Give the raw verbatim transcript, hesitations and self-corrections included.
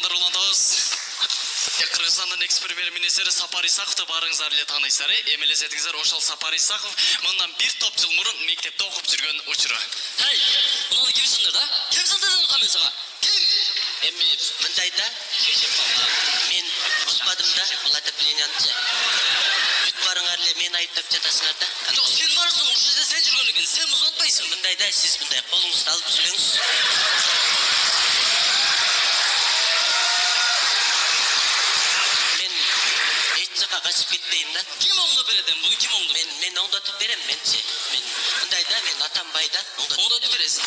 Кутмандар улантабыз. Кыргызстандын экс премьер-министри Сапар Исаковду баарыңыздар эле тааныйсыздар. Эми элестетиңиздер, ошол Сапар Исаков мындан бир топ жыл мурун мектепте окуп жүргөн учуру. Хей, мунуну ким сындыр да? Ким сындырды камен сага? Ким? Эми мындайда мен бузбадым да, бул отопленияны. Бүт барыңар эле мени айыптап жатасыңар да. Жок, сен барсың, ушул жерде сен жүргөн экен. Сен бузуп атпайсың. Мындайда сиз мындай колуңузду алып сүйлөңүз. Мен эч жака качып кетпейм да. Ким оңдоп берет эми? Буну ким оңдоп? Мен мен оңдотуп берем менчи. Мен мындайда мен атам байда оңдотуп бересиң.